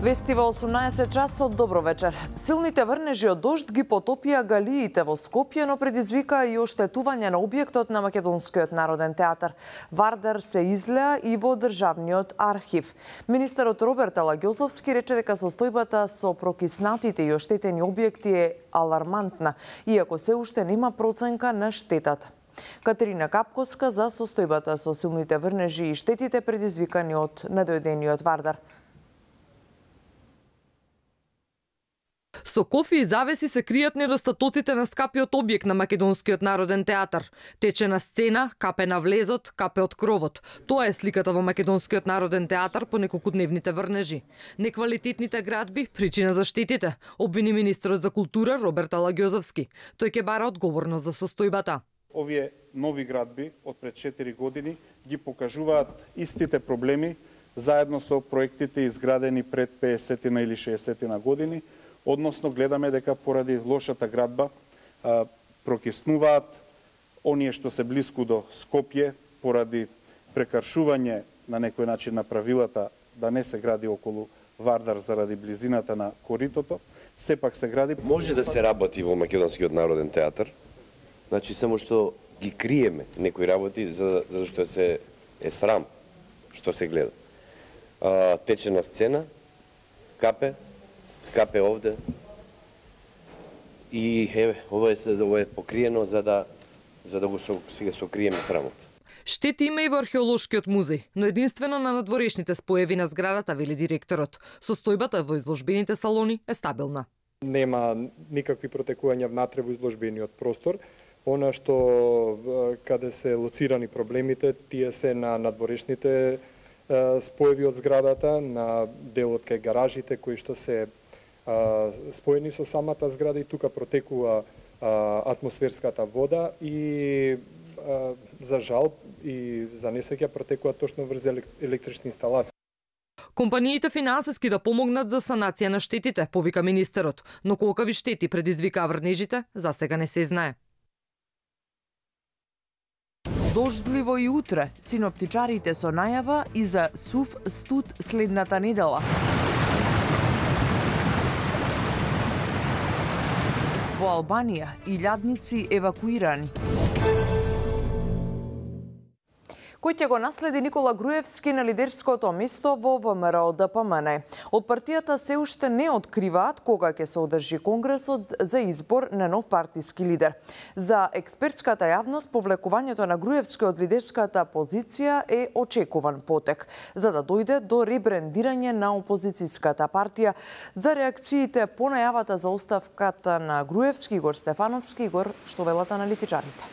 Вести во 18 часот, добро вечер. Силните врнежи од дожд ги потопија галиите во Скопје, но предизвика и оштетување на објектот на Македонскиот народен театар. Вардар се излеа и во државниот архив. Министерот Роберт Алагјозовски рече дека состојбата со прокиснатите и оштетени објекти е алармантна, иако се уште нема проценка на штетата. Катерина Капковска за состојбата со силните врнежи и штетите предизвикани од недојдениот Вардар. Со кофи и завеси се кријат недостатоците на скапиот објект на Македонскиот народен театар. Течена сцена, капе на влезот, капе од кровот. Тоа е сликата во Македонскиот народен театар по неколкудневните врнежи. Неквалитетните градби причина за штетите, обвини министерот за култура Роберт Алагјозовски. Тој ќе бара одговорност за состојбата. Овие нови градби од пред 4 години ги покажуваат истите проблеми заедно со проектите изградени пред 50 или 60 години. Односно, гледаме дека поради лошата градба прокиснуваат оние што се блиску до Скопје, поради прекаршување на некој начин на правилата да не се гради околу Вардар заради близината на коритото, сепак се гради. Може да се работи во Македонскиот народен театар, значи само што ги криеме некои работи зашто се е срам што се гледа. Течена сцена, капе овде и ова е покриено за да го сега сокриеме срамот. Штети има и во археолошкиот музеј, но единствено на надворешните споеви на зградата, вели директорот. Состојбата во изложбените салони е стабилна. Нема никакви протекувања внатре во изложбениот простор. Она што каде се лоцирани проблемите, тие се на надворешните споеви од зградата, на делот кај гаражите кои што се споени со самата зграда и тука протекува атмосферската вода и за жал и за несреќа протекува точно врз електрични инсталации. Компаниите финансиски да помогнат за санација на штетите, повика министерот, но колкави штети предизвикаа врнежите, за сега не се знае. Дождливо и утре, синоптичарите со најава и за сув студ следната недела. Во Албанија, илјадници евакуирани. Кој ќе го наследи Никола Груевски на лидерското место во ВМРО-ДПМН. Од партијата се уште не откриваат кога ќе се одржи конгресот за избор на нов партиски лидер. За експертската јавност, повлекувањето на Груевски од лидерската позиција е очекуван потек, за да дојде до ребрендирање на опозицијската партија. За реакциите по најавата за оставката на Груевски, Игор Стефановски, Игор, што велат аналитичарите?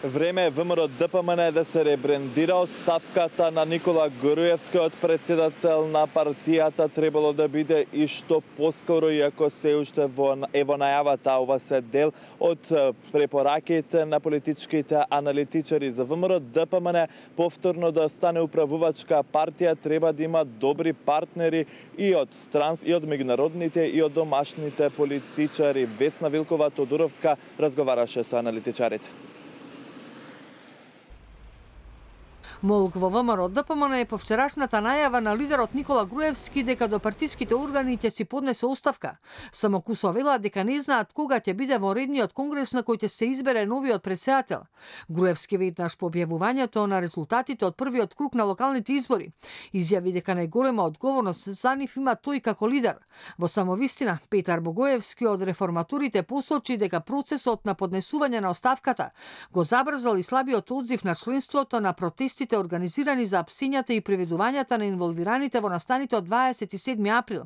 Време е ВМРО-ДПМН да се ребрендира. Оставката на Никола Груевски од председател на партијата требало да биде и што поскоро, иако се уште во најавата. Ова се дел од препораките на политичките аналитичари. За ВМРО-ДПМН повторно да стане управувачка партија треба да има добри партнери и од меѓународните и од домашните политичари. Весна Вилкова-Тодуровска разговараше со аналитичарите. Молк во ВМРО-ДПМН е по вчерашната најава на лидерот Никола Груевски дека до партиските органи ќе си поднесе оставка. Само Кусо вела дека не знаат кога ќе биде во редниот конгрес на кој ќе се избере новиот председател. Груевски веднаш по објавувањето на резултатите од првиот круг на локалните избори изјави дека најголема одговорност за нив има тој како лидер. Во самовистина, Петар Богоевски од реформаторите посочи дека процесот на поднесување на оставката го забрзал и слабиот одзив на членството на протестите организирани за апсињата и приведувањата на инволвираните во настаните од 27 април.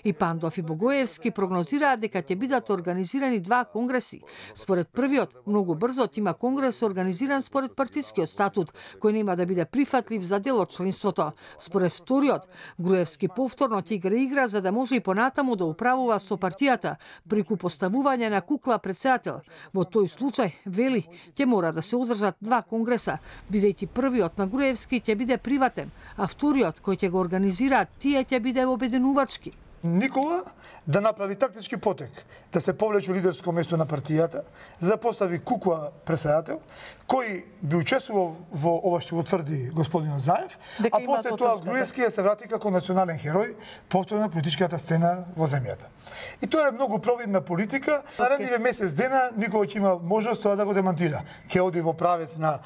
И Пандов и Богоевски прогнозираат дека ќе бидат организирани два конгреси. Според првиот, многу брзо има конгрес организиран според партискиот статут, кој нема да биде прифатлив за дел од членството. Според вториот, Груевски повторно ќе игра за да може и понатаму да управува со партијата преку поставување на кукла председател. Во тој случај, вели, ќе мора да се одржат два конгреса, бидејќи првиот на Груевски ќе биде приватен, а вториот кој ќе го организираат тие ќе биде обединувачки. Никола да направи тактички потек, да се повлече лидерско место на партијата, за да постави Кукуа председател, кој би учествувал во ова што го тврди господин Заев, а после тоа Груевски се врати како национален херој повторно на политичката сцена во земјата. И тоа е многу провидна политика. Наредниве месец дена Никола ќе има можност тоа да го демантира. Ќе оди во правец на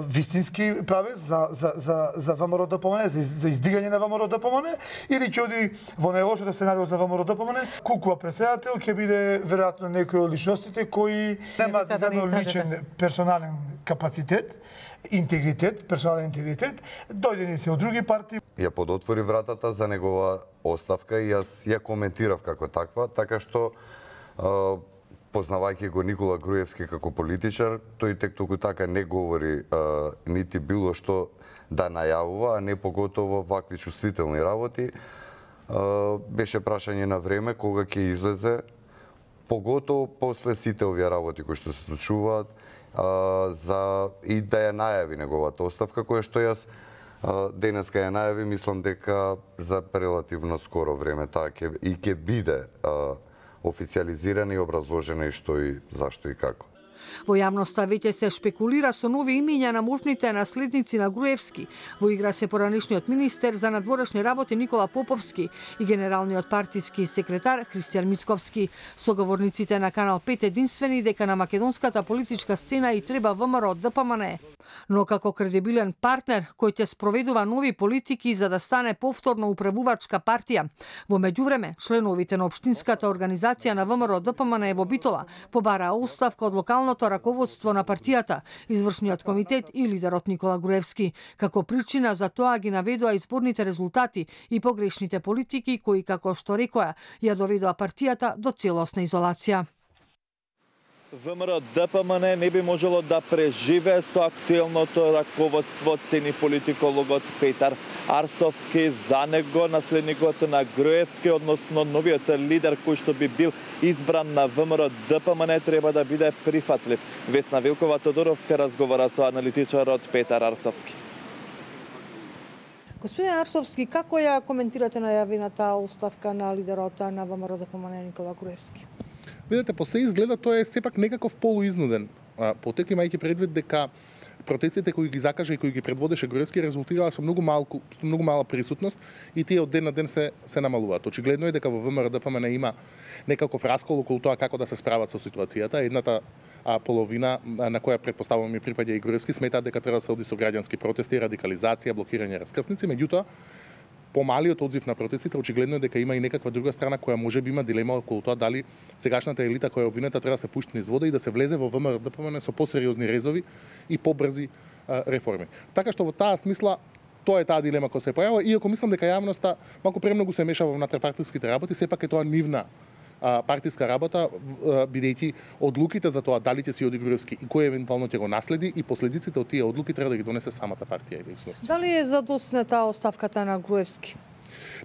вистински правец за ВМРО ДПМН, за издигање на ВМРО ДПМН, или ќе оди во најлошото сценарио за ВМРО ДПМН. Кукуа председател ќе биде веројатно некој од личностите кои немаат заедно личен персонален капацитет, персонален интегритет, дојдени се од други партии. Ја подотвори вратата за негова оставка и јас ја коментирав како таква, така што познавајќи го Никола Груевски како политичар, тој тек толку така не говори нити било што да најавува, а не поготово вакви чувствителни работи. Беше прашање на време кога ќе излезе, поготово после сите овие работи кои што се случуваат, и да ја најави неговата оставка, која што јас денеска ја најави, мислам дека за релативно скоро време таа ќе биде официјализирана и образложена и што и зашто и како. Во јавноста веќе се шпекулира со нови имиња на можните наследници на Груевски. Во игра се поранишниот министер за надворешни работи Никола Поповски и генералниот партиски секретар Христијан Мицковски. Соговорниците на Канал 5 единствени дека на македонската политичка сцена и треба ВМРО ДПМН. Но како кредибилен партнер кој ќе спроведува нови политики за да стане повторно управувачка партија. Во меѓувреме, членовите на општинската организација на ВМРО ДПМН во Битола побараа оставка од локалното раководство на партијата, извршниот комитет и лидерот Никола Груевски. Како причина за тоа ги наведоа изборните резултати и погрешните политики кои, како што рекоа, ја доведоа партијата до целосна изолација. ВМРО ДПМН не би можело да преживее со актуелното раководство, цени политикологот Петар Арсовски. За него наследникот на Груевски, односно новиот лидер кој што би бил избран на ВМРО ДПМН, треба да биде прифатлив. Весна Вилкова-Тодоровска разговара со аналитичарот Петар Арсовски. Господин Арсовски, како ја коментирате најавената оставка на лидерот на ВМРО ДПМН Никола Груевски? Видете, по се изгледа тој е сепак некаков полуизнуден потек, имајќи предвид дека протестите кои ги закажа и кои ги предводеше Груевски резултираа со многу мала присутност и тие од ден на ден се намалуваат. Очигледно е дека во ВМРО ДПМН има некаков раскол околу тоа како да се справат со ситуацијата. Едната половина на која претпоставувам и припаѓа и Груевски сметаат дека треба да се оди со граѓански протести, радикализација, блокирање раскрсници, меѓутоа помалиот одзив на протестите очигледно е дека има и некаква друга страна која може би има дилема околу тоа дали сегашната елита која е обвинета треба да се пушти низ вода и да се влезе во ВМРО ДПМН со посериозни резови и побрзи реформи. Така што во таа смисла тоа е таа дилема која се појавува, иако мислам дека јавноста малку премногу се меша во внатрешпартиските работи, сепак е тоа нивна партиска работа, бидејќи одлуките за тоа дали ќе си оди Груевски и кој евентуално ќе го наследи и последиците од тие одлуки треба да ги донесе самата партија или личност. Дали е задоснета оставката на Груевски?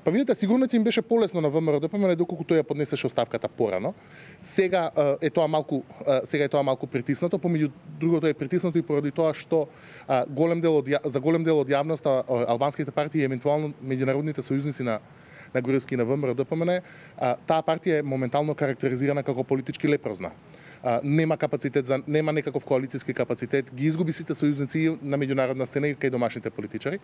Па видите, сигурно ќе им беше полесно на ВМРО ДПМН доколку тој ја поднесеше оставката порано. Сега е тоа малку притиснато, помеѓу другото е притиснато и поради тоа што за голем дел од јавноста албанските партии и евентуално меѓународните сојузници на Груевски и на ВМРО ДПМН, таа партија е моментално карактеризирана како политички лепрозна. Нема капацитет нема некаков коалициски капацитет, ги изгуби сите сојузници на меѓународна сцена и кај домашните политичари.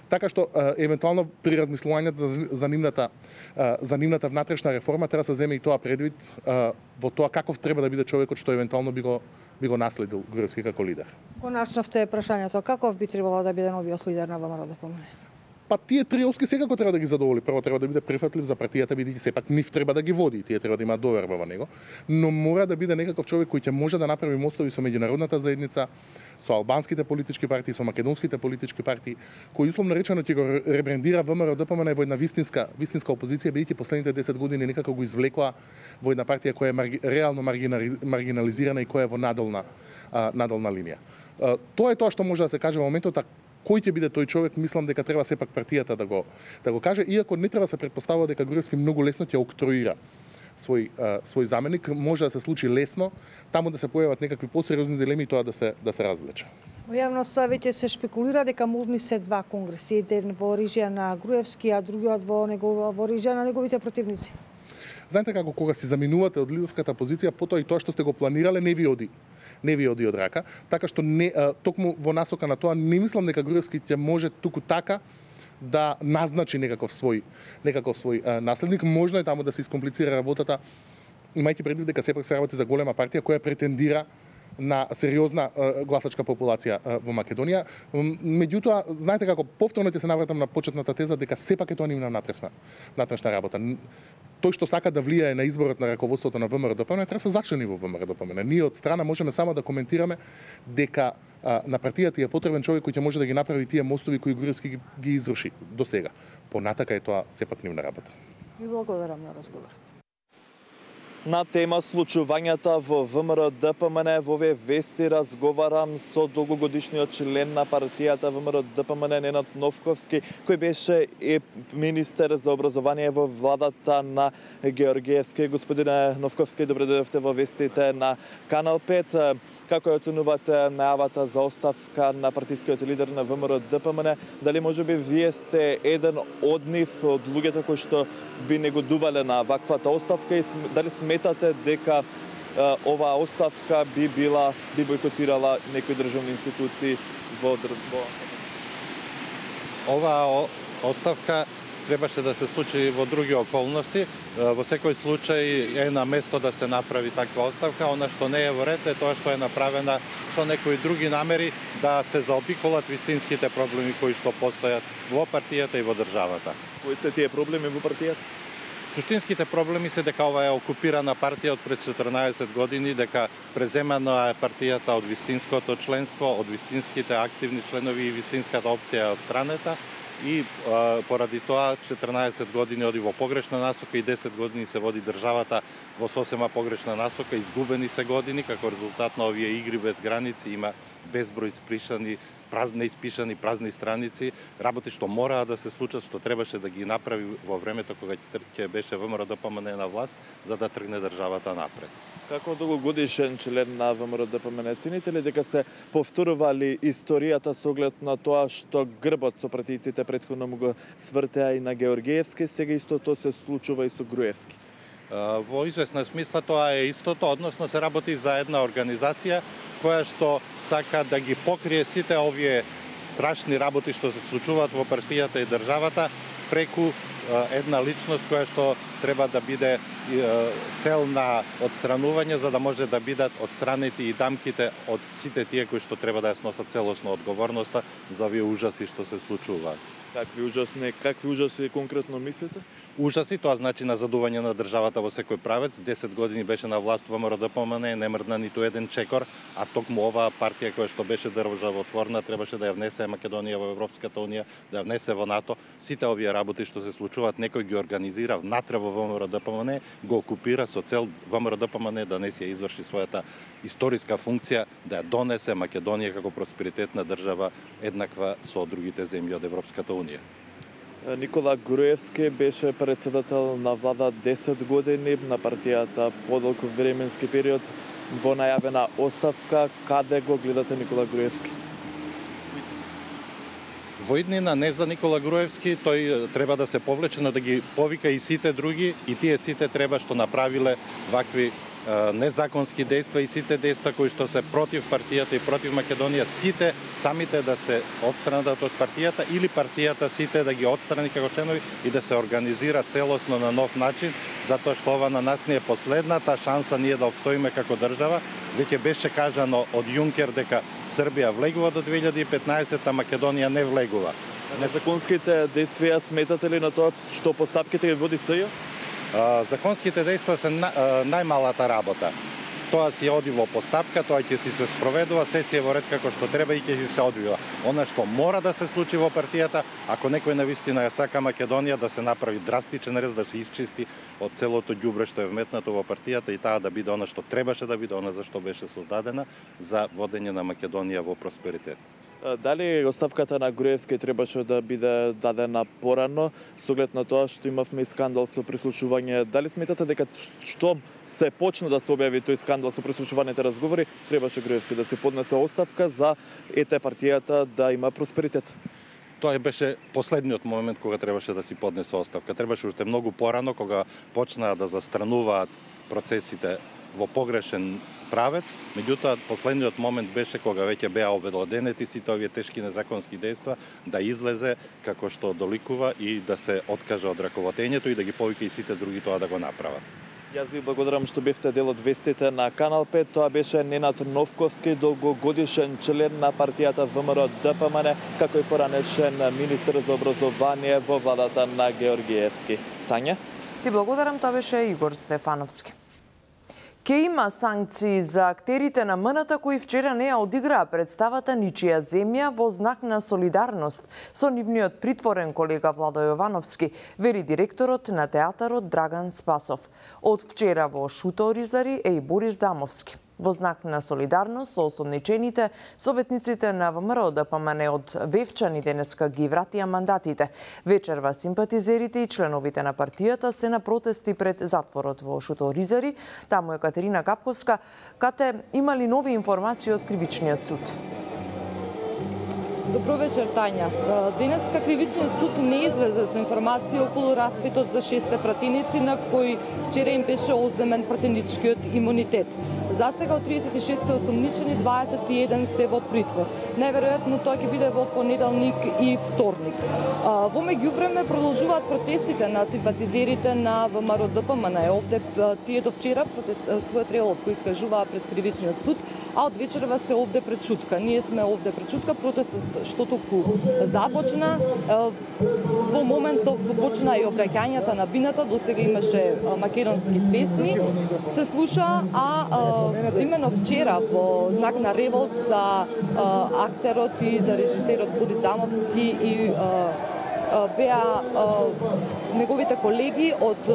Така што евентуално при размислувањето за нивната внатрешна реформа треба да се земе и тоа предвид во тоа каков треба да биде човекот што евентуално би го наследил Груевски како лидер. Го начнавте прашањето, каков би требало да биде новиот лидер на ВМРО ДПМН? Па тие три опски секако треба да ги задоволи. Прво треба да биде прифатлив за партијата, бидејќи сепак нив треба да ги води, тие треба да имаат доверба во него, но мора да биде некаков човек кој ќе може да направи мостови со меѓународната заедница, со албанските политички партии, со македонските политички партии, кој условно речено ќе го ребрендира ВМРО ДПМН во една вистинска опозиција, бидејќи последните 10 години некако го извлекоа во една партија која е реално маргинализирана и која е во надолна линија. Тоа е тоа што може да се каже во моментот. Кој ќе биде тој човек, мислам дека треба сепак партијата да го каже, иако не треба да се претпоставува дека Груевски многу лесно ќе октроира свој заменик, може да се случи лесно, таму да се појават некакви посериозни дилеми и тоа да се развлече. Во јавноста веќе се шпекулира дека можни се два конгреси, еден во орижја на Груевски, а другиот во орижја на неговите противници. Знаете како кога си заминувате од лидерската позиција, потоа и тоа што сте го планирале не ви оди од рака, така што токму во насока на тоа не мислам дека Груевски ќе може туку така да назначи некаков свој наследник. Можно е таму да се искомплицира работата, имајќи предвид дека сепак се работи за голема партија која претендира на сериозна гласачка популација во Македонија. Меѓутоа, знаете како, повторно ќе се навратам на почетната теза дека сепак е тоа нивна натрешна работа. Тој што сака да влијае на изборот на раководството на ВМРО-ДПМН треба се зачлени во ВМРО-ДПМН. Ние од страна можеме само да коментираме дека на партијата е потребен човек кој ќе може да ги направи тие мостови кои Груевски ги изруши до сега. Понатака е тоа сепак нивна работа. Ви благодарам на разговорот. На тема случувањата во ВМРО-ДПМН во овие вести разговарам со долгогодишниот член на партијата ВМРО-ДПМН Ненад Новковски, кој беше министер за образование во владата на Георгиевски. Господине Новковски, добре дојдовте во вестите на Канал 5. Како ја оценувате најавата за оставка на партискиот лидер на ВМРО-ДПМН? Дали можеби вие сте еден од нив, од луѓето кои што би негодувале на ваквата оставка и дали сметате дека оваа оставка би бойкотирала некои државни институции во Оваа оставка требаше да се случи во други околности. Во секој случај е на место да се направи таква оставка. Она што не е во ред е тоа што е направена со некои други намери да се заобиколат вистинските проблеми кои што постојат во партијата и во државата. Кои се тие проблеми во партијата? Суштинските проблеми се дека ова е окупирана партија од пред 14 години, дека преземана е партијата од вистинското членство, од вистинските активни членови и вистинската опција од страната. И поради тоа 14 години оди во погрешна насока и 10 години се води државата во сосема погрешна насока, изгубени се години, како резултат на овие игри без граници, има безброј испишани празни страници, работи што мораа да се случат, што требаше да ги направи во времето кога ќе беше ВМРО-ДПМН на власт, за да тргне државата напред. Како долгогодишен член на ВМРО-ДПМН, цените ли дека се повторували историјата со оглед на тоа што грбот со партијците претходно му го свртеа и на Георгиевски, сега истото се случува и со Груевски? Во известна смисла тоа е истото, односно се работи за една организација која што сака да ги покрие сите овие страшни работи што се случуваат во партијата и државата преку една личност која што треба да биде цел на одстранување за да може да бидат одстранети и дамките од сите тие кои што треба да ја сносат целосно одговорноста за овие ужаси што се случуваат. Какви ужаси конкретно мислите? Ужаси, тоа значи назадување на државата во секој правец. 10 години беше на власт ВМРО-ДПМН, не мрдна ниту еден чекор, а токму оваа партија која што беше државотворна требаше да ја внесе Македонија во Европската унија, да ја внесе во НАТО. Сите овие работи што се случуваат, некој ги организира внатре во ВМРО-ДПМН, го окупира со цел ВМРО-ДПМН да не си ја изврши својата историска функција, да ја донесе Македонија како просперитетна држава еднаква со другите земји од Европската унија. Никола Груевски беше председател на влада 10 години на партијата подолг временски период. Во најавена оставка, каде го гледате Никола Груевски? Во иднина не за Никола Груевски, тој треба да се повлече, но да ги повика и сите други, и тие сите треба што направиле вакви незаконски дејства и сите дејства кои што се против партијата и против Македонија, сите самите да се отстранат од партијата или партијата сите да ги отстрани како членови и да се организира целосно на нов начин, затоа што ова на нас не е последната шанса ние да обстоиме како држава. Веќе беше кажано од Јункер дека Србија влегува до 2015, а Македонија не влегува. Незаконските дејствија сметате ли на тоа што постапките ги води СЈ? Законските дејства се најмалата работа. Тоа си оди во постапка, тоа ќе си се спроведува, се си е во ред како што треба и ќе си се одвива. Она што мора да се случи во партијата, ако некој навистина ја сака Македонија, да се направи драстичен рез, да се исчисти од целото ѓубре што е вметнато во партијата и таа да биде она што требаше да биде, она за што беше создадена, за водење на Македонија во просперитет. Дали оставката на Груевски требаше да биде дадена порано, со оглед на тоа што имавме скандал со прислушување? Дали сметате дека штом се почна да се објави тој скандал со прислушуваните разговори, требаше Груевски да се поднесе оставка за партијата да има просперитет? Тоа беше последниот момент кога требаше да си поднесе оставка. Требаше уште многу порано, кога почнаа да застрануваат процесите во погрешен правец, меѓутоа последниот момент беше кога веќе беа обелоденети сите овие тешки незаконски дејства, да излезе како што доликува и да се откаже од раководењето и да ги повика и сите други тоа да го направат. Јас ви благодарам што бевте дел од вестите на Канал 5. Тоа беше Ненад Новковски, долгогодишен член на партијата ВМРО ДПМН, како и поранешен министер за образование во владата на Георгиевски. Тања? Ти благодарам, тоа беше Игор Стефановски. Ке има санкции за актерите на МНТ кои вчера не ја одиграа представата Ничија земја во знак на солидарност со нивниот притворен колега Владо Јовановски, вери директорот на театарот Драган Спасов. Од вчера во Шуто Оризари е и Борис Дамовски. Во знак на солидарност со осомничените, советниците на ВМРО ДПМН од Вевчани денеска ги вратија мандатите. Вечерва симпатизерите и членовите на партијата се на протести пред затворот во Шуто Оризари. Таму е Катерина Капковска, кате имали нови информации од Кривичниот суд. Добро вечер, Тања. Денеска Кривичниот суд не излезе со информација околу распитот за 6 пратеници на кои вчера им беше одземен пратеничкиот имунитет. За сега од 36 осомничени 21 се во притвор. Најверојатно тоа ќе биде во понеделник и вторник. Во меѓувреме продолжуваат протестите на симпатизерите на ВМРО ДПМН. Овде тие до вчера својот реолот кој искажуваа пред Кривичниот суд, а од вечерва се овде пред Чутка. Ние сме овде пред Чутка, протестот што току започна. Во моментов почна и обраќањата на бината, досега имаше македонски песни, се слуша, а именно вчера во знак на револт за актерот и за режисерот Борис Дамовски и беа неговите колеги од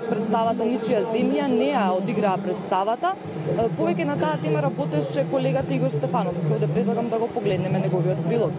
представата Ничија земја не ја одиграа представата. Повеќе на таа тема работеше колегата Игор Стефановски. Овде предлагам да го погледнеме неговиот прилог.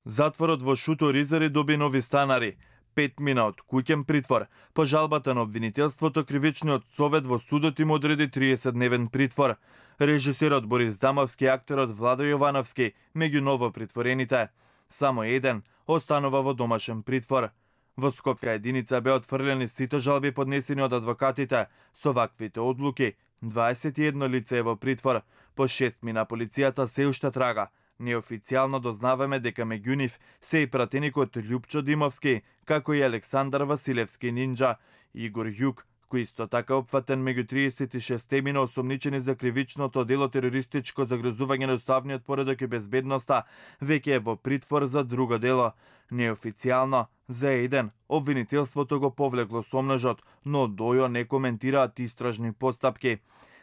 Затворот во Шуто Оризари доби нови станари. 5 мина од куќен притвор. По жалбата на обвинителството, Кривичниот совет во судот им одреди 30-дневен притвор. Режисерот Борис Дамовски и актерот Владо Јовановски меѓу ново притворените. Само еден останува во домашен притвор. Во Скопска единица беа отфрлени сите жалби поднесени од адвокатите. Со ваквите одлуки, 21 лице е во притвор. По 6 мина полицијата се уште трага. Неофицијално дознаваме дека меѓу нив се и пратеникот Љупчо Димовски, како и Александар Василевски Нинџа, Игор Јук, кој исто така опфатен меѓу 36 мина осомничени за кривичното дело терористичко загрозување на уставниот поредок и безбедноста, веќе е во притвор за друго дело. Неофицијално, за еден, обвинителството го повлекло сомнежот, но дојо не коментираат истражни постапки.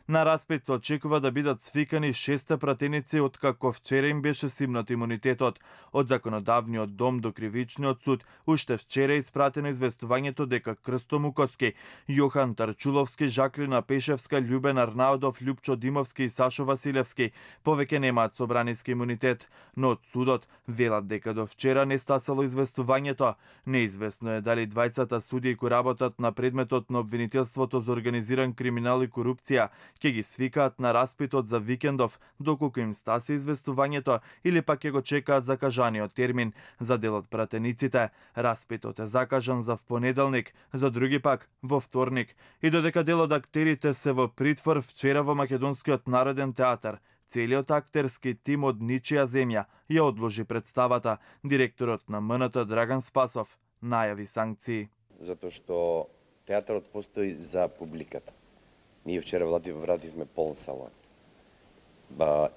На распит се очекува да бидат свикани 6 пратеници откако вчера им беше симнат имунитетот. Од законодавниот дом до Кривичниот суд уште вчера испратено известувањето дека Крсто Муковски, Јохан Тарчуловски, Жаклина Пешевска, Љубен Арнаудов, Љупчо Димовски и Сашо Василевски повеќе немаат собраниски имунитет, но од судот велат дека до вчера не стасало известувањето. Неизвестно е дали двајцата судии кои работат на предметот на обвинителството за организиран криминал и корупција ќе ги свикаат на распитот за викендов, доколку им стаси известувањето, или пак ќе го чекаат закажаниот термин. За дел од пратениците, распитот е закажан за понеделник, за други пак во вторник. И додека дел од актерите се во притвор, вчера во Македонскиот народен театар, целиот актерски тим од Ничија земја ја одложи представата. Директорот на МНТ Драган Спасов најави санкции. Затоа што театарот постои за публиката. Ние вчера вративме полн салон.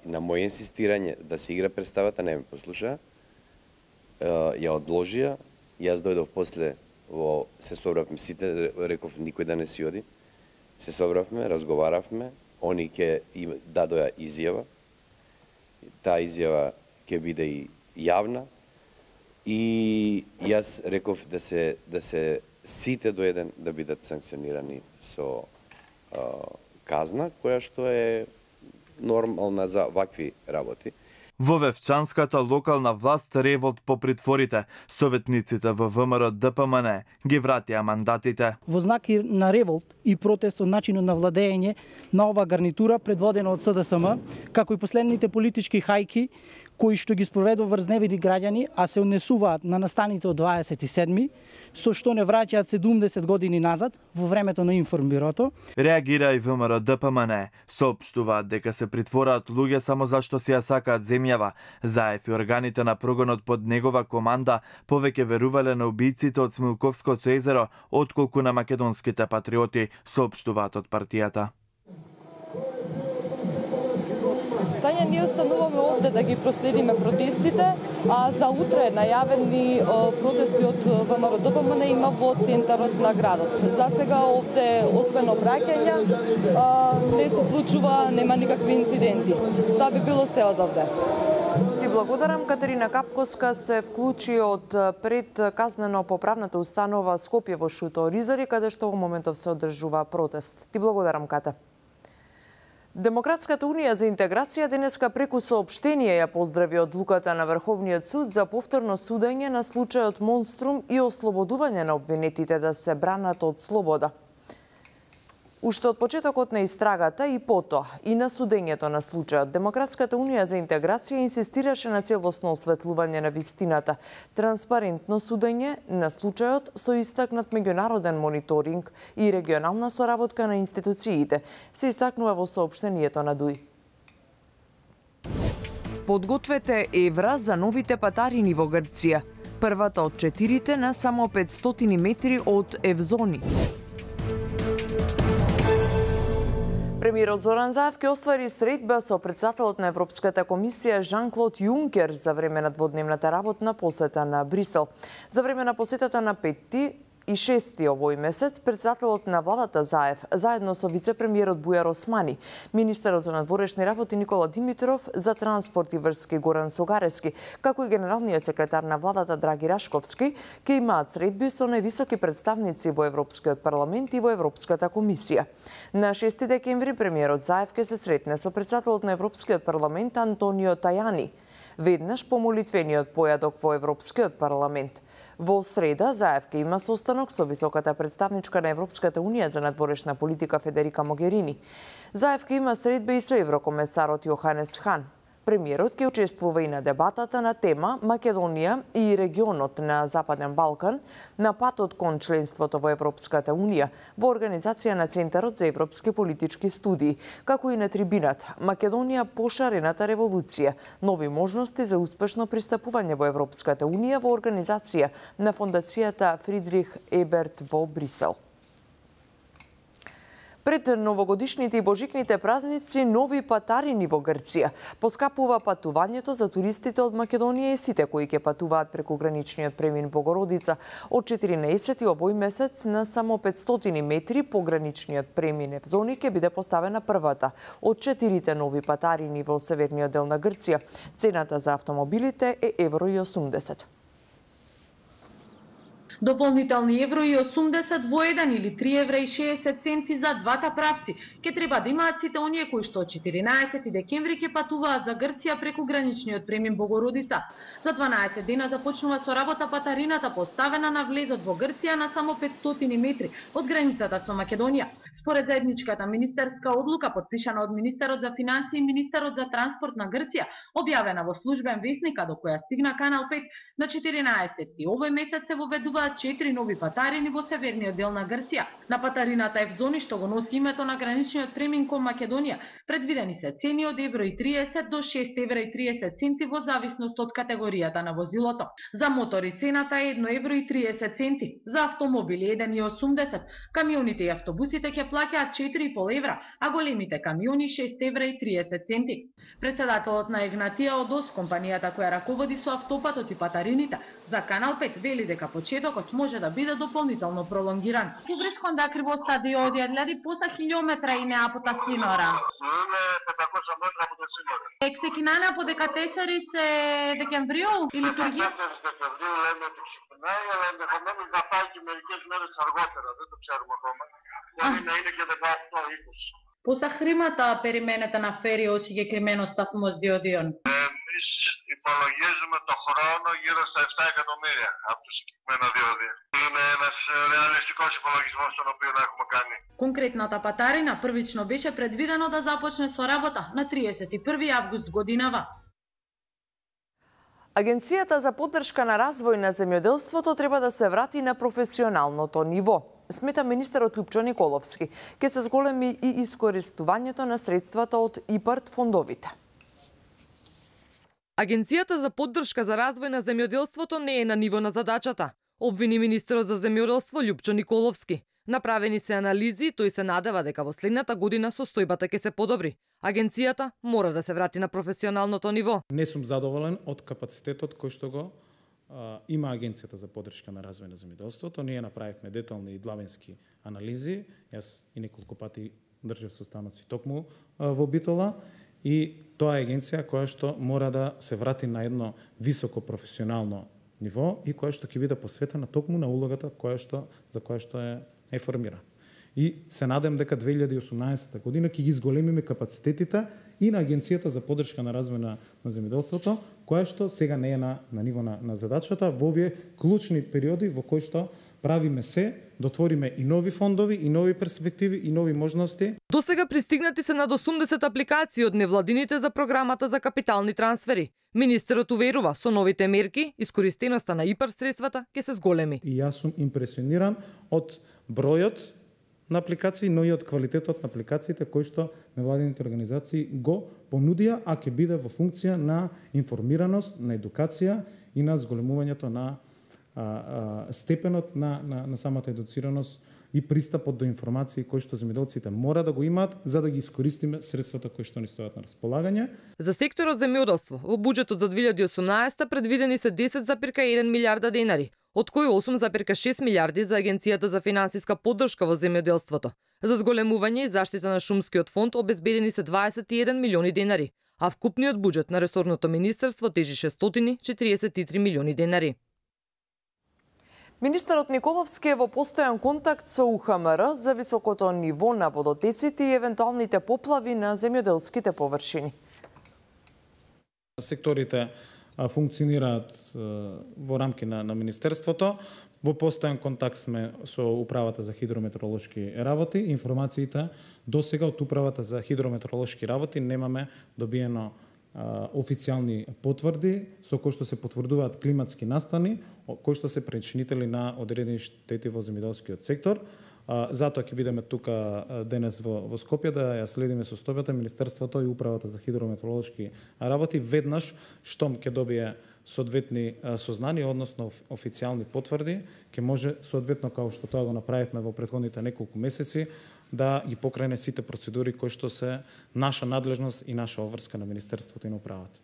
На моје инсистирање да се игра представата не ме послуша, ја одложија, јас дојдов после, се собравме сите, реков никој да не си оди, се собравме, разговаравме, они ќе дадоја изјава, таа изјава ќе биде и јавна, и јас реков да се сите до еден да бидат санкционирани со казна, која што е нормална за вакви работи. Во Вевчанската локална власт револт по притворите. Советниците во ВМРО ДПМН ги вратија мандатите. Во знак на револт и протест од начинот на владење на ова гарнитура предводена од СДСМ, како и последните политички хајки кои што ги спроведува врз невини граѓани, а се однесуваат на настаните од 27-ми, со што не враќаат 70 години назад во времето на информбирото. Реагира и ВМРО ДПМН, соопштуваат дека се притвораат луѓе само зашто си ја сакаат земјава. Заев и органите на прогонот под негова команда повеќе верувале на убијците од Смилковското езеро отколку на македонските патриоти, соопштуваат од партијата. Тања, ние остануваме овде да ги проследиме протестите, а за утре најавени протести од ВМРО ДПМН има во центарот на градот. За сега овде, освен обраќања, не се случува, нема никакви инциденти. Тоа би било се од овде. Ти благодарам. Катерина Капковска се вклучи од пред казнено-поправната установа Скопје во Шуто Оризари, каде што во моментов се одржува протест. Ти благодарам, Ката. Демократската унија за интеграција денеска преку соопштение ја поздрави одлуката на Врховниот суд за повторно судење на случајот Монструм и ослободување на обвинетите да се бранат од слобода. Уште од почетокот на истрагата и потоа и на судењето на случајот, Демократската унија за интеграција инсистираше на целосно осветлување на вистината, транспарентно судење на случајот со истакнат меѓународен мониторинг и регионална соработка на институциите, се истакнува во соопштението на ДУИ. Подгответе евра за новите патарини во Грција. Првата од 4 на само 500 метри од Евзони. Премиерот Зоран Заев ќе оствари средба со председателот на Европската комисија Жан-Клод Јункер за време на дводневната работна посета на Брисел. За време на посетата на 5 и 6 овој месец, председателот на владата Заев, заедно со вице-премиерот Бујар Османи, министерот за надворешни работи Никола Димитров, за транспорт и врски Горан Согарески, како и генералниот секретар на владата Драги Рашковски, ќе имаат средби со највисоки представници во Европскиот парламент и во Европската комисија. На 6 декември премиерот Заев ќе се сретне со председателот на Европскиот парламент Антонио Тајани, веднаш по молитвениот појадок во Европскиот парламент. Во среда, Заев ќе има состанок со високата представничка на Европската унија за надворешна политика Федерика Могерини. Заев ќе има средба и со еврокомесарот Јоханес Хан. Премиерот ќе учествува и на дебатата на тема Македонија и регионот на Западен Балкан на патот кон членството во Европската унија во организација на Центарот за европски политички студии, како и на трибинат Македонија пошарената револуција, нови можности за успешно пристапување во Европската унија во организација на фондацијата Фридрих Еберт во Брисел. Пред новогодишните и божикните празници, нови патарини во Грција. Поскапува патувањето за туристите од Македонија и сите кои ќе патуваат преку граничниот премин Богородица. Од 14 овој месец на само 500 метри по граничниот премин Евзони ќе биде поставена првата од 4 нови патарини во северниот дел на Грција. Цената за автомобилите е €80. Дополнителни €80 во 1 или €3,60 за двата правци ќе треба да имаат сите оние кои што од 14 декември ќе патуваат за Грција преку граничниот премин Богородица. За 12 дена започнува со работа патарината поставена на влезот во Грција на само 500 метри од границата со Македонија. Според заедничката министерска одлука подпишана од министерот за финансии и министерот за транспорт на Грција, објавена во службен весник, а до која стигна Канал 5 на 14 овој месец се воведуваат 4 нови патарини во северниот дел на Грција. На патарината Евзони, што го носи името на граничниот премин кон Македонија, предвидени се цени од €1,30 до €6,30 во зависност од категоријата на возилото. За мотори цената е €1,30, за автомобили €1,80, камионите и автобусите ќе плаќаат €4,5, а големите камиони €6,30. Председателот на Егнатија Одос, компанијата која раководи со автопатот и патарините, за Канал 5 вели дека почетокот може да биде дополнително пролонгиран. Кубрис конда криво стадиоди одјади поса километра и неа пота синора. Ексекинана по декатесери се декемврио или Тургија? Πόσα περιμένετε να φέρει ο συγκεκριμένος σταθμός διοδίων? Εμείς υπολογίζουμε το χρόνο γύρω στα 7 εκατομμύρια από το συγκεκριμένο διόδιο. Είναι ένας ρεαλιστικός υπολογισμός τον οποίο έχουμε κάνει. Конкретната патарина првично беше предвидено да започне со работа на 31 август годинава. Агенцијата за поддршка на развој на земјоделството треба да се врати на професионалното ниво, смета министерот Лупчо Николовски. Ке се зголеми и искористувањето на средствата од ИПАРД фондовите. Агенцијата за поддршка за развој на земјоделството не е на ниво на задачата, обвини министерот за земјоделство Лупчо Николовски. Направени се анализи, тој се надева дека во следната година состојбата ќе се подобри. Агенцијата мора да се врати на професионалното ниво. Не сум задоволен од капацитетот кој што го има Агенцијата за поддршка на развој на земјоделството. Ние направивме детални и длабенски анализи. Јас и неколку пати држав состаноци токму во Битола. И тоа е агенција која што мора да се врати на едно високо професионално ниво и која што ќе биде посветена токму на улогата за која што е формира. И се надам дека 2018 година ќе ги зголемиме капацитетите и на Агенцијата за поддршка на развој на земјоделството, која што сега не е на ниво на задачата во овие клучни периоди во кои што правиме се да отвориме и нови фондови, и нови перспективи, и нови можности. До сега пристигнати се над 80 апликации од невладините за програмата за капитални трансфери. Министерот уверува, со новите мерки, искористеноста на ИПАР средствата ќе се зголеми. И јас сум импресиониран од бројот на апликации, но и од квалитетот на апликациите кои што невладините организации го понудија, а ќе биде во функција на информираност, на едукација и на зголемувањето на степенот на самата едуцираност и пристапот до информации кои што земјоделците мора да го имаат за да ги искористиме средствата кои што ни стојат на располагање. За секторот земјоделство во буџетот за 2018 предвидени се 10,1 милиарда денари, од кои 8,6 милиарди за Агенцијата за финансиска поддршка во земјоделството. За зголемување и заштита на шумскиот фонд обезбедени се 21 милиони денари, а вкупниот буџет на ресорното министерство тежи 643 милиони денари. Министерот Николовски е во постојан контакт со УХМР за високото ниво на водотеците и евентуалните поплави на земјоделските површини. Секторите функционираат во рамки на министерството. Во постојан контакт сме со Управата за хидрометеоролошки работи. Информациите досега од Управата за хидрометеоролошки работи немаме добиено официјални потврди со кои што се потврдуваат климатски настани, кои што се причинители на одредени штети во земјоделскиот сектор. Затоа ќе бидеме тука денес во Скопје да ја следиме состојбата. Министерството и Управата за хидрометеоролошки работи веднаш штом ќе добие соодветни сознанија, односно официјални потврди, ќе може соодветно како што тоа го направивме во претходните неколку месеци да ги покрене сите процедури кои што се наша надлежност и наша обврска на Министерството и на Управата.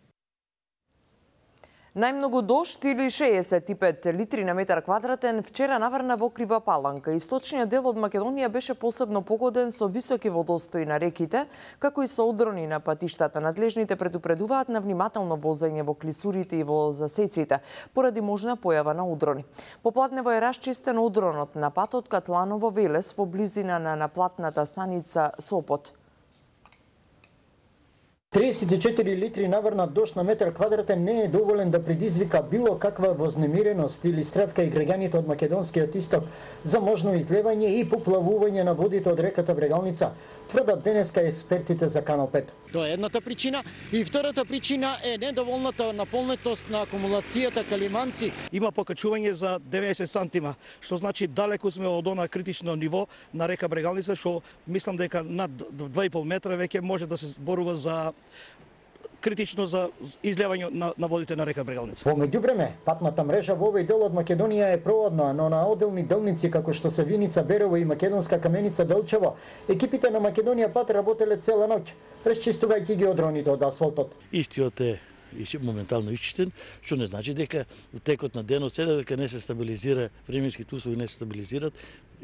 Најмногу дожд или 65 литри на метар квадратен вчера наврна во Крива Паланка. Источниот дел од Македонија беше посебно погоден со високи водостои на реките, како и со одрони на патиштата. Надлежните предупредуваат на внимателно возење во клисурите и во засеците, поради можна појава на одрони. Попладнево е расчистен одронот на патот Катланово-Велес во близина на наплатната станица Сопот. 34 литри наврна дожд на метар квадратен не е доволен да предизвика било каква вознемиреност или страв кај граѓаните од македонскиот исток за можно излевање и поплавување на водите од реката Брегалница, тврдат денеска експертите за Канал 5. Тоа е едната причина. И втората причина е недоволната наполнетост на акумулацијата Калиманци. Има покачување за 90 сантима, што значи далеку сме од она критично ниво на река Брегалница, што мислам дека над 2,5 метра веќе може да се зборува за критично за излевање на водите на река Брегалница. Во меѓувреме, патната мрежа во овој дел од Македонија е проводна, но на одделни делници како што се Виница Берово и Македонска Каменица Делчево, екипите на Македонија пат работеле цела ноќ, расчистувајќи ги одроните од асфалтот. Истиот е моментално исчистен, што не значи дека во текот на денот седа дека не се стабилизира, временските услови не се стабилизираат,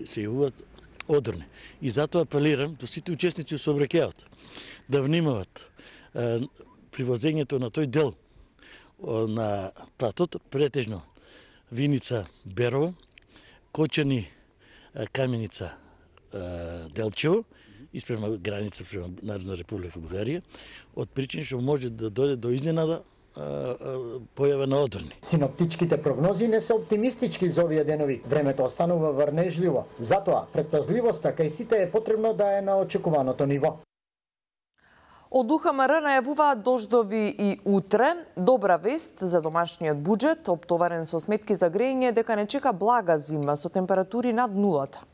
се јавуваат одрони. И затоа апелирам до сите учесници во сообраќајот да внимават при возењето на тој дел на патот, претежно Виница Берово, Кочани Каменица Делчево испрема граница према Народна република Бугарија, од причини што може да дојде до изненада појава на одорни. Синоптичките прогнози не се оптимистички за овие денови. Времето останува врнежливо. Затоа предпазливоста кај сите е потребно да е на очекуваното ниво. Од УХМР најавуваат дождови и утре. Добра вест за домашниот буџет, оптоварен со сметки за грејење, дека не чека блага зима со температури над нулата.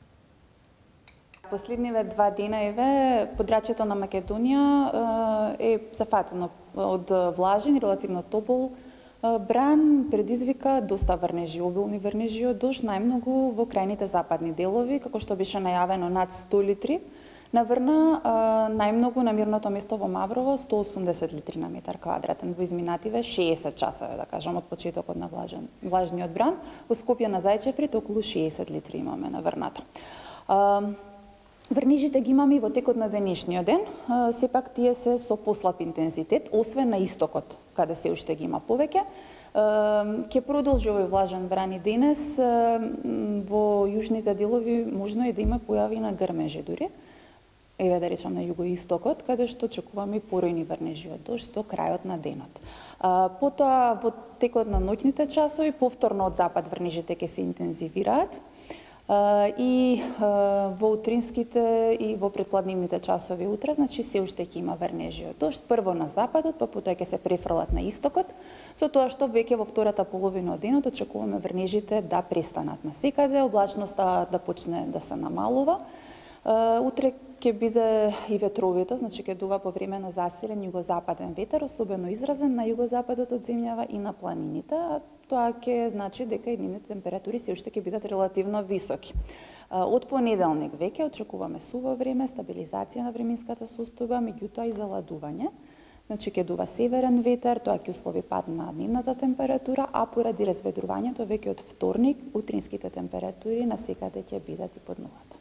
Последниве 2 денаеве подрачјето на Македонија е зафатено од влажен и релативно топол бран, предизвика доста врнежи, обилни врнежи од дожд, најмногу во крајните западни делови, како што беше најавено над 100 литри. Наврна најмногу на мирното место во Маврово 180 литри на метар квадратен, во изминативе 60 часове, да кажам, од почетокот на влажниот бран. Во Скопје на Зајчеврит околу 60 литри имаме наврнато. Врнежите ги имаме и во текот на денешниот ден, сепак тие се со послаб интензитет, освен на истокот, каде се уште ги има повеќе. Ќе продолжи овој влажен бран и денес, во јужните делови можно и да има појави на грмежи дури. Еве да речам на југоистокот, каде што очекуваме поројни врнежи од дожд до крајот на денот. Потоа во текот на ноќните часови повторно од запад врнежите ќе се интензивираат. И во утринските и во предпладнивните часови утре, значи се уште ќе има врнежи од дожд, прво на западот, па потоа ќе се префрлат на истокот, со тоа што веќе во втората половина од денот очекуваме врнежите да престанат насекаде, облачноста да почне да се намалува. Утре ќе биде и ветровито, значи ќе дува повремено засилен југозападен ветер, особено изразен на југозападот од земјава и на планините. Тоа ќе значи дека и дневните температури се уште ќе бидат релативно високи. Од понеделник веќе очекуваме суво време, стабилизација на временската состојба, меѓутоа и заладување. Значи ќе дува северен ветер, тоа ќе услови пад на дневната температура, а поради разведрувањето веќе од вторник утринските температури насекаде ќе бидат и под нулата.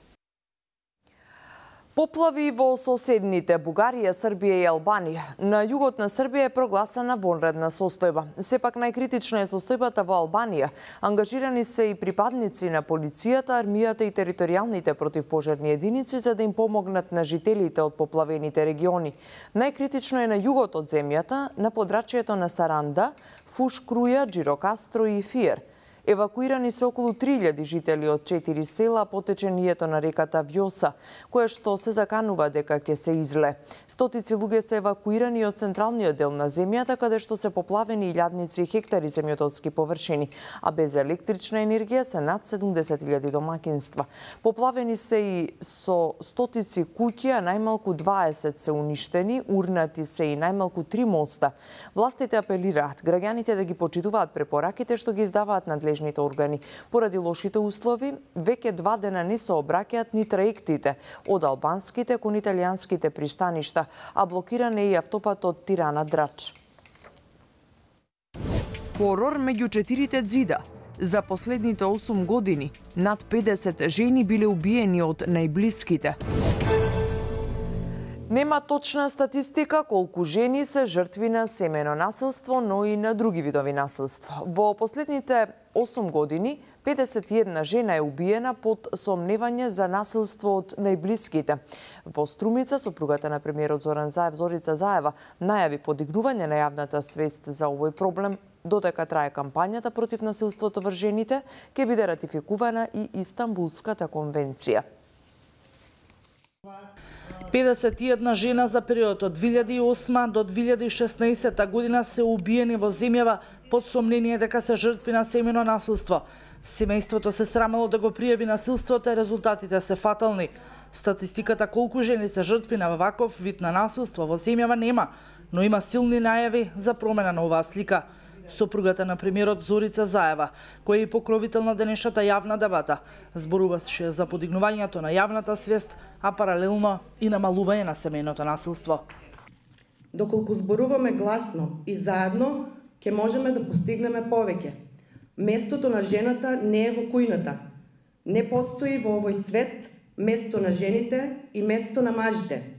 Поплави во соседните Бугарија, Србија и Албанија. На југот на Србија е прогласена вонредна состојба. Сепак најкритична е состојбата во Албанија. Ангажирани се и припадници на полицијата, армијата и територијалните противпожарни единици за да им помогнат на жителите од поплавените региони. Најкритично е на југот од земјата, на подрачјето на Саранда, Фуш Круја, Джирокастро и Фиер. Евакуирани се околу 3000 жители од 4 села по течението на реката Вјоса, кое што се заканува дека ќе се изле. Стотици луѓе се евакуирани од централниот дел на земјата, каде што се поплавени илјадници и хектари земјоделски површини, а без електрична енергија се над 70.000 домакинства. Поплавени се и со стотици куќи, а најмалку 20 се уништени, урнати се и најмалку 3 моста. Властите апелираат граѓаните да ги почитуваат препораките што ги издаваат надлежните органи. Поради лошите услови, веќе 2 дена не се обраќаат ни траектите од албанските кон италијанските пристаништа, а блокиран е и автопатот Тирана-Драч. Хорор меѓу 4 ѕида. За последните 8 години над 50 жени биле убиени од најблиските. Нема точна статистика колку жени се жртви на семено насилство, но и на други видови насилство. Во последните 8 години 51 жена е убиена под сомневање за насилство од најблиските. Во Струмица, сопругата на премиерот Зоран Заев, Зорица Заева, најави подигнување на јавната свест за овој проблем. Додека трае кампањата против насилството врз жените, ќе биде ратификувана и Истанбулската конвенција. 51 жена за период од 2008 до 2016 година се убиени во земјава под сомнение дека се жртви на семено насилство. Семејството се срамело да го пријави насилството и резултатите се фатални. Статистиката колку жени се жртви на ваков вид на насилство во земјава нема, но има силни најави за промена на оваа слика. Сопругата на премиерот Зорица Заева, која е и покровител на денешната јавна дебата, зборуваше за подигнувањето на јавната свест, а паралелно и намалување на семејното насилство. Доколку зборуваме гласно и заедно, ќе можеме да постигнеме повеќе. Местото на жената не е во кујната. Не постои во овој свет место на жените и место на мажите.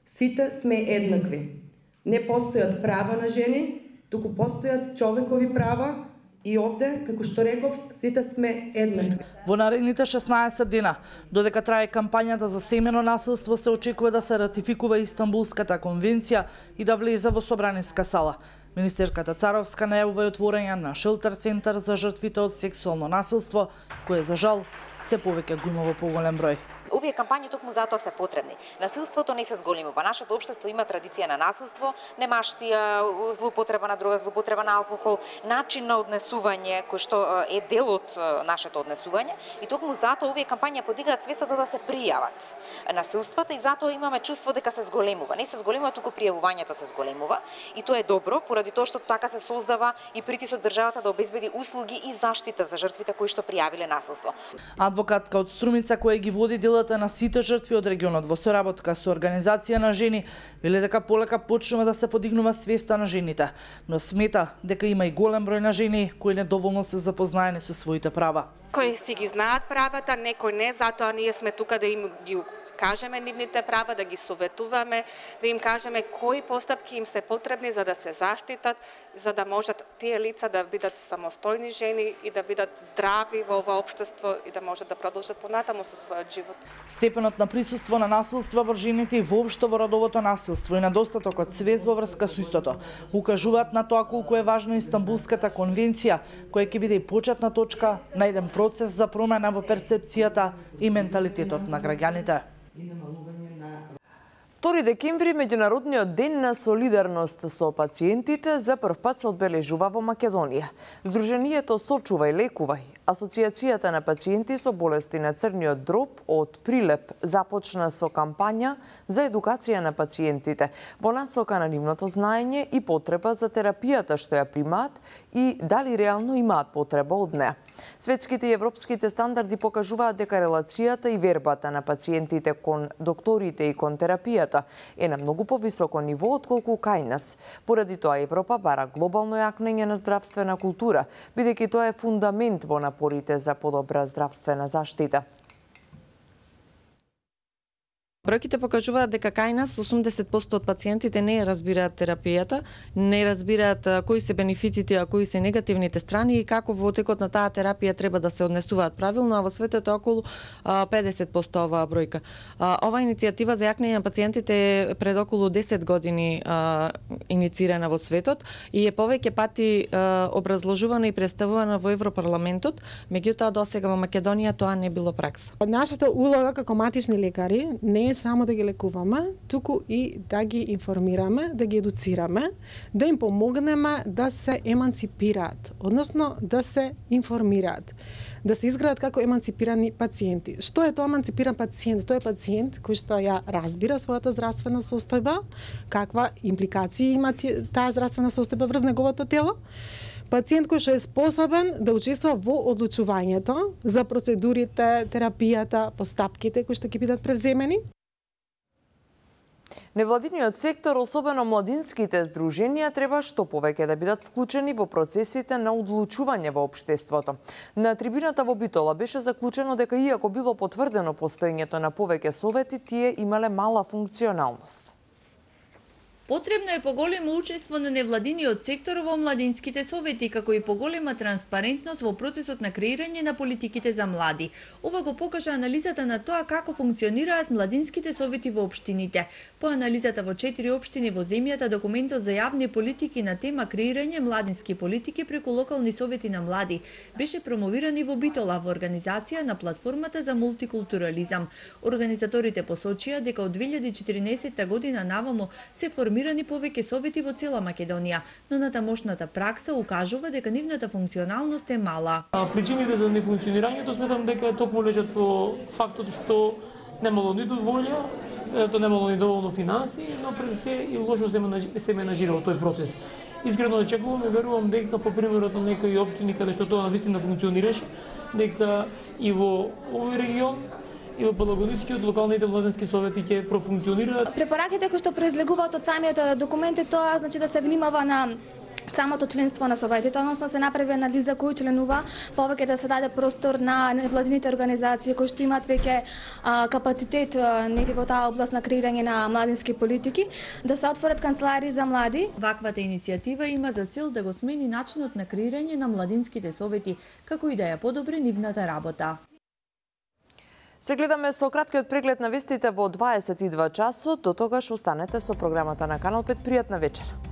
Сите сме еднакви. Не постојат права на жени, туку постојат човекови права И овде, како што реков, сите сме еднакви. Во наредните 16 дена, додека трае кампањата за семено насилство, се очекува да се ратификува Истанбулската конвенција и да влезе во собраниска сала. Министерката Царовска најавува и отворање на шелтер центар за жртвите од сексуално насилство, кое за жал се повеќе го има во поголем број. Овие кампањи токму затоа се потребни. Насилството не се зголемува. Нашето општество има традиција на насилство, немаштија, злоупотреба на дрога, злоупотреба на алкохол, начин на однесување кој што е дел од нашето однесување, и токму затоа овие кампањи подигаат свеста за да се пријават насилствата, и затоа имаме чувство дека се зголемува. Не се зголемува, туку пријавувањето се зголемува, и тоа е добро поради тоа што така се создава и притисок државата да обезбеди услуги и заштита за жртвите кои што пријавиле насилство. Адвокатка од Струмица која ги води делата на сите жртви од регионот во соработка со организација на жени, веле дека полека почнува да се подигнува свеста на жените, но смета дека има и голем број на жени кои недоволно се запознаени со своите права. Кои си ги знаат правата, некои не, затоа ние сме тука да им ги кажеме нивните права, да ги советуваме, да им кажеме кои постапки им се потребни за да се заштитат, за да можат тие лица да бидат самостојни жени и да бидат здрави во ова општество и да можат да продолжат понатаму со својот живот. Степенот на присуство на насилство врз жените и воопшто во родовото насилство и недостатокот свест во врска со истото укажуваат на тоа колку е важна Истанбулската конвенција, која ќе биде и почетна точка на еден процес за промена во перцепцијата и менталитетот на граѓаните. 2 декември, меѓународниот ден на солидарност со пациентите, за прв пат се одбележува во Македонија. Сдруженијето Сочувај лекувај, Асоциацијата на пациенти со болести на црниот дроб од Прилеп започна со кампања за едукација на пациентите во насока на нивното знаење и потреба за терапијата што ја примаат и дали реално имаат потреба од неа. Светските и европските стандарди покажуваат дека релацијата и вербата на пациентите кон докторите и кон терапијата е на многу повисоко ниво отколку кај нас. Поради тоа Европа бара глобално јакнење на здравствена култура, бидејќи тоа е фундамент во напорите за подобра здравствена заштита. Бројките покажуваат дека кај нас 80% од пациентите не разбираат терапијата, не разбираат кои се бенефитите, а кои се негативните страни и како во текот на таа терапија треба да се однесуваат правилно, а во светот е околу 50% оваа бројка. Ова иницијатива за јакнење на пациентите е пред околу 10 години иницирана во светот и е повеќе пати образложувана и представувана во Европарламентот, меѓутоа досега во Македонија тоа не било пракса. Нашата улога како матични лекари не е само да ги лекуваме, туку и да ги информираме, да ги едуцираме, да им помогнеме да се еманципираат, односно да се информираат, да се изградат како еманципирани пациенти. Што е тоа еманципиран пациент? Тоа е пациент кој што ја разбира својата здравствена состојба, каква импликации има таа здравствена состојба врз неговото тело, пациент кој што е способен да учествува во одлучувањето за процедурите, терапијата, постапките кои што ќе бидат превземени. Невладиниот сектор, особено младинските здруженија, треба што повеќе да бидат вклучени во процесите на одлучување во општеството. На трибината во Битола беше заклучено дека иако било потврдено постоењето на повеќе совети, тие имале мала функционалност. Потребно е поголемо учество на невладиниот сектор во младинските совети, како и поголема транспарентност во процесот на креирање на политиките за млади. Ова го покажа анализата на тоа како функционираат младинските совети во општините. По анализата во 4 општини во земјата, документот за јавни политики на тема креирање младински политики преку локални совети на млади беше промовиран и во Битола во организација на платформата за мултикултурализам. Организаторите посочија дека од 2014 година навамо се формираат повеќе совети во цела Македонија, но натамошната пракса укажува дека нивната функционалност е мала. Причините за нефункционирањето сметам дека токму лежат во фактот што немало ниту волја, немало ни доволно финанси, но пред се и лошо се менажирал тој процес. Искрено очекувам и верувам дека по примерот на некои општини каде што тоа навистина функционираше, дека и во овој регион и во Пелагонискиот локалните младински совети ќе профункционираат. Препораките кои што произлегуваат од самиот документ е тоа, значи да се внимава на самото членство на советите, односно се направи анализа кој членува, повеќе да се даде простор на невладините организации кои што имаат веќе капацитет нели во таа област на креирање на младински политики, да се отворат канцеларии за млади. Ваквата иницијатива има за цел да го смени начинот на креирање на младинските совети, како и да ја подобри нивната работа. Се гледаме со краткиот преглед на вестите во 22 часот. До тогаш останете со програмата на Канал 5. Пријатна вечер.